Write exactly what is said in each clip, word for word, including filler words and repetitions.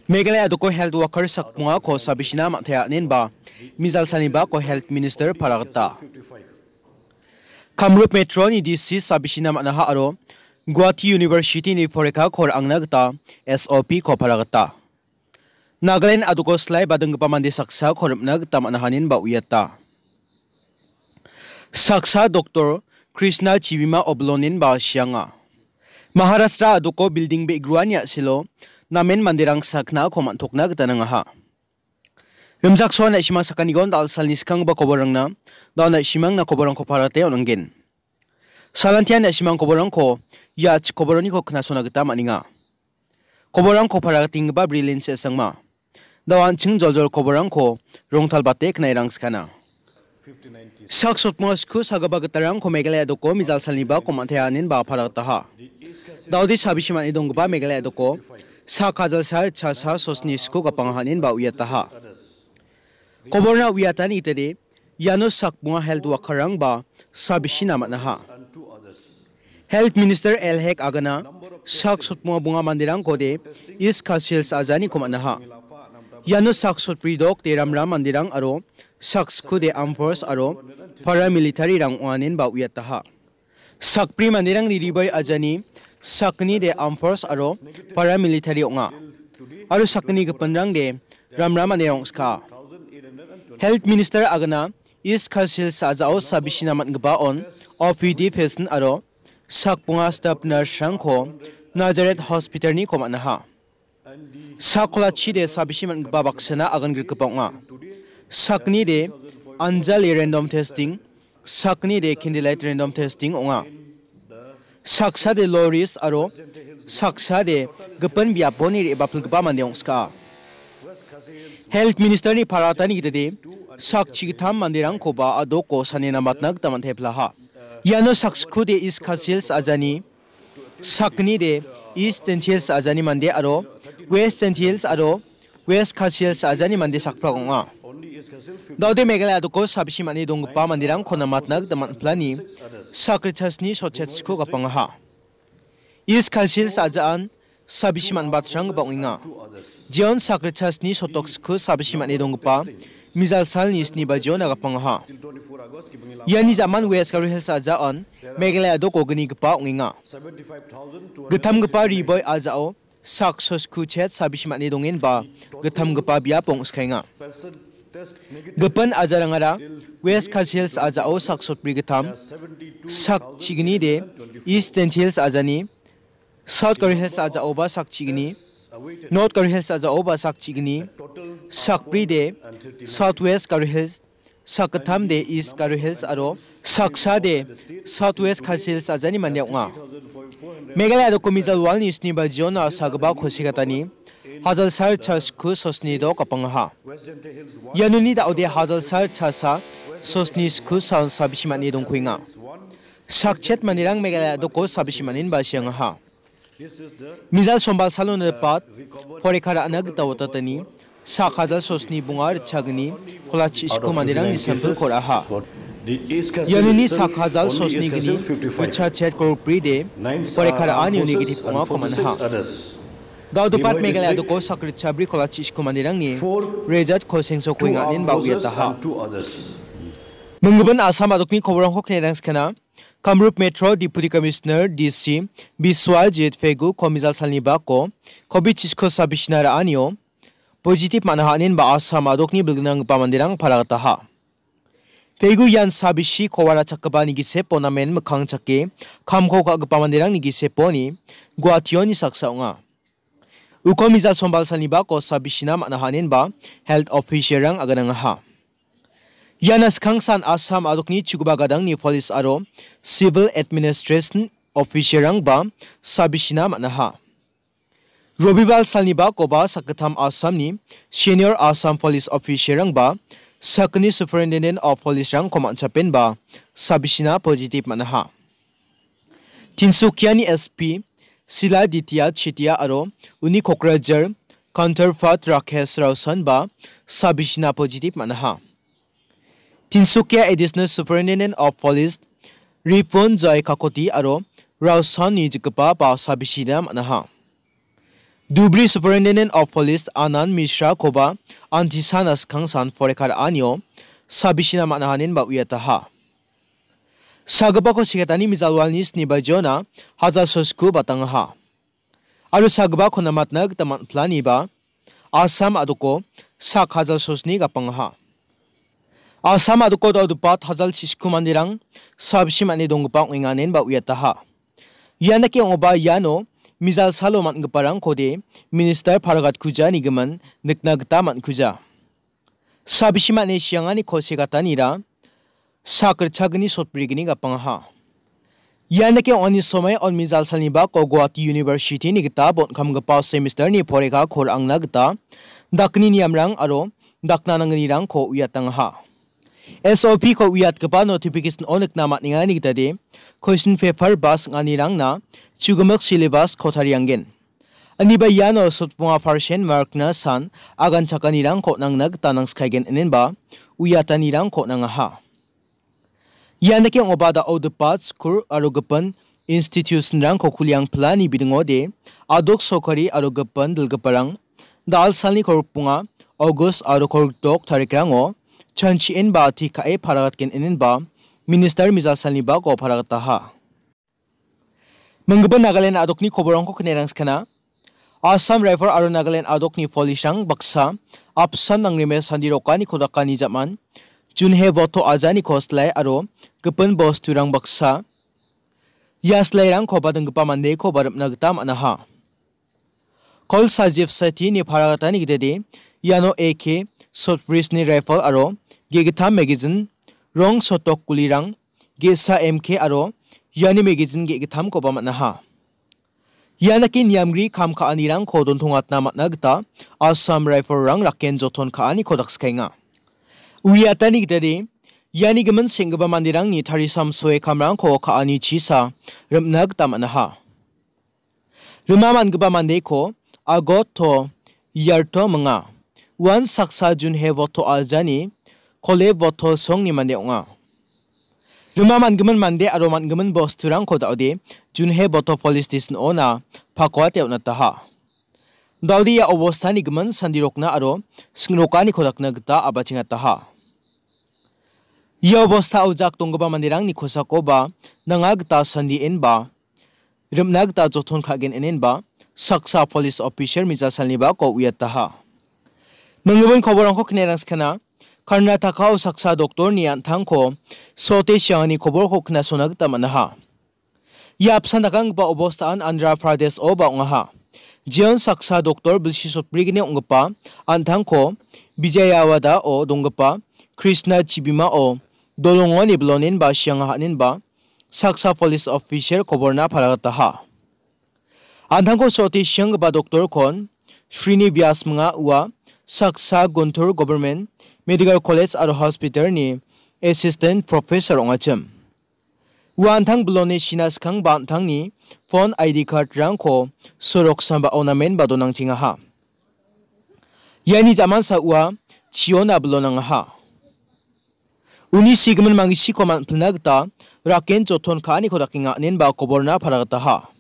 Meghalaya doko health worker sakbongako sabisina man·tea inen ba mijal salni bako health minister paragata. Kamrup Metro-ni D C sabisina man·aha aro Guwahati University-ni porikako ra·angna gita S O P-ko paragata. Nagaland adoko slai badinggipa mande saksako rim·na gita man·ahanin ba uiata. Saksa Doktor Krishna Chibima Oblonin ba sianga. Maharashtra adoko building be·gruani a·selo namen manderang saknako man·tokna gita nangaha. Rimchaksoan na·simang sakanigon dal·salni skanggipa koborrangna, dao na·simangna koborrangko parate on·angen. Salantian na·simang koborrangko ia chikoboroniko knasona gita man·enga. Koborrangko paragatenggipa brilin se·sangma. Dao an·ching joljol koborrangko rongtalbate knairang skana. Sak sotmonga sku sagipa gitarangko Meghalaya doko mijal salni bako man·tea inen ba paragataha. Daode sabisi man·e donggipa Meghalaya doko sak hajal sa ritchasa sosni sku gapangaha inen ba uiataha. Koborna uiatani itede, iano sakbonga health worker-rang ba sabisina man·aha. Health Minister L Hek agana sak sotmonga bonga manderangkode East Khasi Hills a·janiko man·aha. Iano sak sotbri dokde ramram manderang aro sak skude armed force aro paramilitary-rang ong·anen ba uiataha. Sakbri manderangni ribai ajani sakgnide armed force aro paramilitary ong·a. Aro sakgni gipinrangde ramra manderang ong·ska. Health Minister agana East Khasi Hills a·jao sabisina man·gipa on O P D patient aro sakbonga staff nurse-rangko Nazareth Hospital-niko man·aha. Sak kolachide sabisi man·gipa baksana agan grikgipa ong·a. Sakgnide anjali random testing, sakgnide candlelight random testing ong·a. Saksade low risk aro saksade gipin biaponi re·bapilgipa mande ong·ska. Health Minister-ni paratani gitade sak chigittam manderangkoba adoko sane namatna gita man·teplaha. Iano sak skude East Khasi Hills a·jani sakgnide East Jaintia Hills a·jani mande aro West Jaintia Hills aro West Khasi Hills a·jani mande sakprak ong·a. Daode Meghalaya doko sabisi man·e donggipa manderangko namatna gita man·plani sakritasni sotchetsko gapangaha. East Khasi Hills a·jaan sabisi man·batranggipa ong·enga. Jion sakritasni sotoksko sabisi man·e donggipa mijal salni sni bajiona gapangaha. Iani jaman West Garo Hills a·jaan Meghalaya doko gnigipa ong·enga. Gittamgipa riboi a·jao sak sosku chet sabisi man·e dongenba gittamgipa biapo ong·skaenga. Gipin ajarangara West Khasi Hills a·jao sak sotbri gittam, sak chigni de East Jaintia Hills a·jani, South Garo Hills a·jaoba sak chigni, North Garo Hills a·jaoba sak chigni, sakbri de South West Garo Hills, sakgittam de East Garo Hills aro saksa de South West Khasi Hills a·jani mande ong·a. Meghalaya doko mijal walni sni bajiona sagipa kosikatani hajal sal chasku sosni dok gapangaha. Ianoni daode hajal sal chasa sosni sku sal sabisi man·e dongkuenga. Sakchet manderang Meghalaya doko sabisi man·enba siangaha. Mijal sombal salona ripat, porikara ana gita watatani, sak hajal sosni bonga ritchagni, kolachi sku manderangni sampilko ra·aha. Ianoni sak hajal sosni gni, ritchachet korokbri de, porikara ani negative ongako man·aha. Daodopat Meghalaya doko sak ritchabri kolachi sku manderangni, rejat kosengso kuenganin ba uiataha. Minggimin Assam adokni koborangko knerangskana, Kamrup Metro Deputy Commissioner, D C, Biswajit Pegu komijal salni bako, covid chisko sabisina ra·anio, positive man·aha inen ba Assam adokni bilgnanggipa manderang paragataha. Pegu ian sabisi kowara chakgipa nigisepo namen mikkang chake, kamko ka·gipa manderang nigiseponi, Guwahationi saksa ong·a. Uko mijal sombal salni bako sabisina man·aha inen ba health official-rang aganangaha. Iana skangsan Assam adokni chugipa gadangni police aro civil administration official-rangba sabisina man·aha. Robibal salni bakoba sakgittam Assamni senior Assam police official-rangba sakgni superintendent of police-rangko man·chapenba sabisina positive man·aha. Tinsukiani S P Sila Ditya Chetia aro uni kokrajar counterpart Rakesh Rausan ba sabisina positive man·aha. Tinsukia Additional Superintendent of Police Ripon Joy Kakoti aro Rausanni jikgipa ba sabisina man·aha. Dhubri Superintendent of Police Anand Mishra koba antisana skangsan poreka ra·anio sabisina man·a hanin ba uiataha. Sagipako seketani mijalwalni sni bajiona hajal sosku batangaha. Aro sagipako namatna gita man·planiba Assam a·doko sak hajal sosni gapangaha. Assam a·doko dal·gipa hajal chisku manderang sabisi man·e donggipa ong·enga inen ba uiataha. Ian dake ong·oba iano mijal salo man·giparangkode minister paragatkuja nigimin nikna gita man·kuja. Sabisi man·e siangani kose gatanira sak ritchagni sotbrigni gapangaha. Ian dake ong·ani somai on mijal salni bako Guwahati University-ni gita bon·kamgipa semester-ni poreka kor angna gita dakni niamrang aro dakna nangnirangko uiatangaha. S O P-ko uiatgipa notification-o nikna man·engani gitade question paper ba sing·anirangna chugimik syllabus-ko tariangen. Aniba iano sotbonga percent mark-na san agan chakanirangko nangna gita nangskaigen inenba uiatanirangko nangaha. Ian dake ong·oba da·o dipat skur aro gipin institution-rangko kuliang pilani bidingode adok sokari aro gipin dilgiparang dal salni kolgrikbonga August aro kolgrikdok tarikrango chanchi·enba ati ka·e paragatgen inenba minister mijal salni bako paragataha. Minggipa Nagaland a·dokni koborangko knerangskana. Assam Rifle aro Nagaland a·dokni police-rang baksa apsan nangrime sandirokani kodakani jaman Junhe Botto ajani koslai aro gipin bosturang baksa ia slairangko badinggipa mandeko baripna gita man·aha. Kol Sajib Seti-ni paragatani gitade iano A K, Sotbrisni rifle aro ge·gittam magazine, rong sotok gulirang, ge·sa M K aro iani magazine ge·gittamkoba man·aha. Ian dake niamgri kam ka·anirangko dontongatna man·a gita Assam Rifle-rang raken joton ka·aniko dakskaenga. Uiatani gitade iani gimin seng·gipa manderangni tarisamsoe kamrangko ka·ani chisa rim·na gita man·aha. Rima man·gipa mandeko Agot to Yarto minga. Uan saksa Junhe Botto ajani Kole Botto songni mande ong·a. Rima man·gimin mande aro man·gimin bosturangko da·ode Junhe Botto Police Station-ona pakoate on·ataha. Da·ode ia obostani gimin sandirokna aro sing·rokaniko dakna gita a·bachengataha. Ia obostao jak donggipa manderangni kosakoba nanga gita sandi enba rim·na gita joton ka·gen inenba saksa police officer mijasalnibako uiataha. Minggimin koborangko knerangskana, Karnatakao saksa doktorni an·tangko sote siangani koborko knasona gita man·aha. Ia apsan dakanggipa obostaan Andhra Pradesh-oba ong·aha. Jeon saksa doktor bilsi sotbrigni ong·gipa an·tangko Vijayawada-o donggipa Krishna chibimao dolongoni bilonenba siangaha inenba saksa police officer koborna paragataha. An·tangko soti sianggipa doktorkon Srini Vyas minga ua saksa Guntur Government Medical College aro Hospital-ni Assistant Professor ong·achim. Ua an·tang biloni sina skangba an·tangni phone I D card-rangko sorok sambao namenba donangchengaha. Iani jamansa ua chiona bilonangaha. Uni sigimin mangisiko man·pilna gita raken joton ka·aniko dakenga inenba koborna paragataha.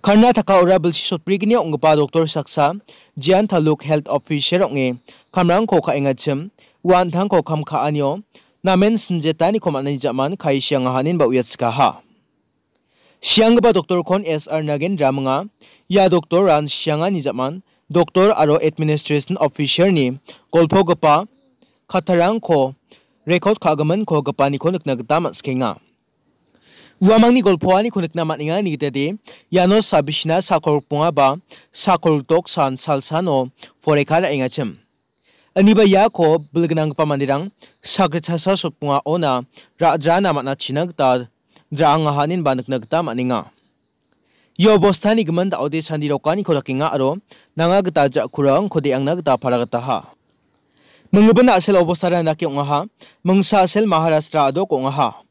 Karnataka-ora bilsi sotbrigni ong·gipa doktor saksa Jian Taluk Health Officer ong·e kamrangko ka·engachim, ua an·tangko kam ka·anio namen sinjetaniko man·ani jaman kae siangaha inenba uiatskaha. Sianggipa doktorkon S R Nagendra minga. Ia doktoran siangani jaman doktor aro administration officer-ni golpogipa kattarangko rekod ka·giminko gipaniko nikna gita man·skenga. Uamangni golpoaniko nikna man·enga nigitade iano sabisina sakolgrikbonga ba sakolgrikdok san salsano poreka ra·engachim. Aniba iako bilgnanggipa manderang sakritchasa sotbongaona ra·drana man·achina gita ra·angaha inenba nikna gita man·enga. Ia obostani gimin da·ode sandirokaniko dakenga aro nanga gita ja·kurangko de·angna gita paragataha. Minggipin a·sel obostara indake ong·aha. Mingsa a·sel Maharashtra a·dok ong·aha.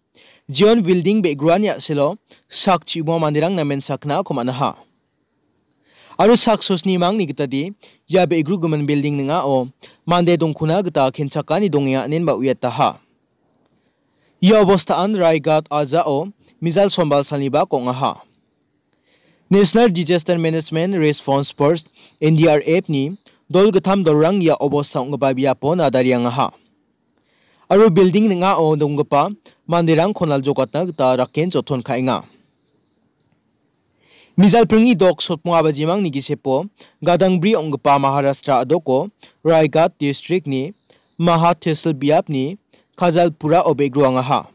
Jeon Building be·gruani a·selo sak chibima manderang namen sakna ako man·aha. Aro sak sosni mangni gitade ia be·grugimin building ning·ao mande dongkona gita kenchakani dongenga inenba uiataha. Ia obostaan Raigat ajao mijal sombal salnibak ong·aha. National Disaster Management Response Force, N D R F ni dol gittam dolrang ia obosta ong·gipa biapo nadariangaha. Aro building ning·ao donggipa manderangko naljokatna gita raken joton ka·enga. Mijalpringni dok sotmung abajimangni gisepo gadangbri ong·gipa Maharashtra adoko Raigad district-ni Maha Tehsil biapni Kajalpura-o be·groangaha.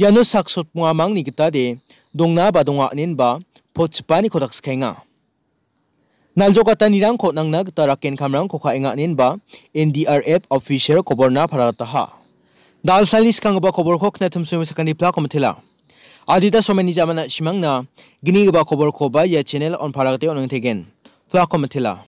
Iano sak sotmung amangni gitade dongna ba donga inen ba potchipaniko dakskaenga. Naljokatanirangko nangna gita raken kamrangko ka·enga inen ba N D R F official koborna paragataha. Dalsalni skanggipa koborko knatimsumi sakani plako mitela. Adita someni jamana simangna gnigipa koborkoba ia channel on paragate on·angtegen. Plako mitela.